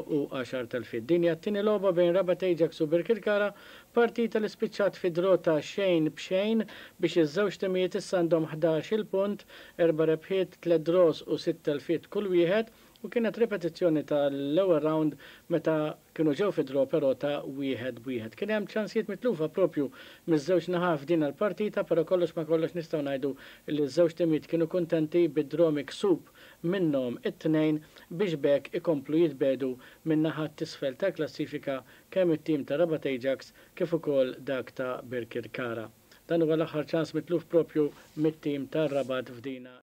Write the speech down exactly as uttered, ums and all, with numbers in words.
u għaxar telfiet. Din hija t-tieni logħba bejn Rabat Ajax u Birkirkara, partita li spiċċat fi draw ta' xejn b'xejn biex iż-żewġ timijiet issa għandhom ħdax-il punt, erba' rebħiet, tliet draws u sitt telfiet kull wieħed, u kienet ripetizzjoni tal-ewwel round meta kienu ġew fi draw però ta' wieħed b'wieħed. Kien hemm ċansijiet mitlufa propju miż-żewġ naħat f'din il-partita, però kollox ma kollox nistgħu ngħidu li ż-żewġ timijiet kienu kuntenti bid-draw miksub minnhom it-tnejn biex b'hekk ikomplu jitbiegħdu minn naħa t'isfel tal-klassifika, kemm it-tim ta' Rabat Ajax kif ukoll dak ta' Birkirkara. Dan huwa l-aħħar ċans mitluf propju mit-tim ta' Rabat f'dina